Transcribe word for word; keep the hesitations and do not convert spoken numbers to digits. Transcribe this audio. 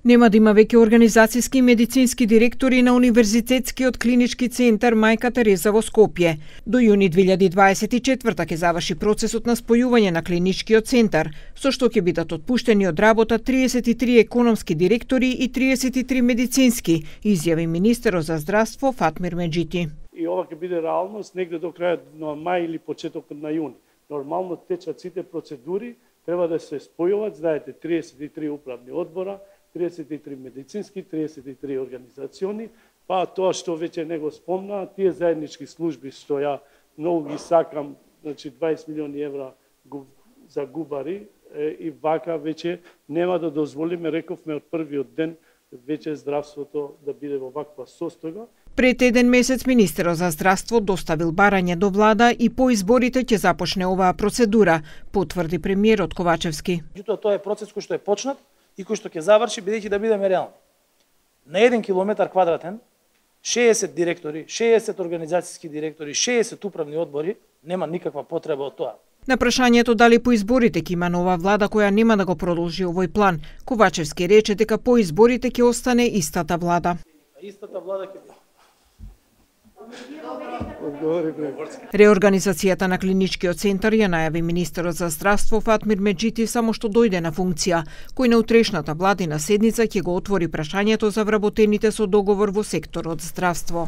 Нема да има веќе организацијски и медицински директори на Универзитетскиот клинички центар Мајка Тереза во Скопје. До јуни две илјади дваесет и четврта ќе заврши процесот на спојување на клиничкиот центар, со што ќе бидат отпуштени од работа триесет и три економски директори и триесет и три медицински, изјави министерот за здравство Фатмир Меджити. И ова ќе биде реалност негде до крајот на мај или почетокот на јуни. Нормално течат сите процедури, треба да се спојуваат, знаете, триесет и три управни одбора, триесет и три медицински, триесет и три организациони, па тоа што веќе не го спомна, тие заеднички служби што ја многу ги сакам, значи дваесет милиони евра за губари и вака веќе нема да дозволиме, рековме од првиот ден, веќе здравството да биде во ваква состојба. Пред еден месец министерот за здравство доставил барање до влада и по изборите ќе започне оваа процедура, потврди премиерот Ковачевски. Тоа е процес кој што е почнат и кој што ќе заврши бидејќи да бидеме реални. На еден километар квадратен, шеесет директори, шеесет организацијски директори, шеесет управни одбори, нема никаква потреба од тоа. На прашањето дали по изборите ќе има нова влада која нема да го продолжи овој план, Ковачевски рече дека по изборите ќе остане истата влада. Истата влада ќе биде. Реорганизацијата на клиничкиот центар ја најави министерот за здравство Фатмир Меджити само што дојде на функција, кој на утрешната владина седница ќе го отвори прашањето за вработените со договор во секторот здравство.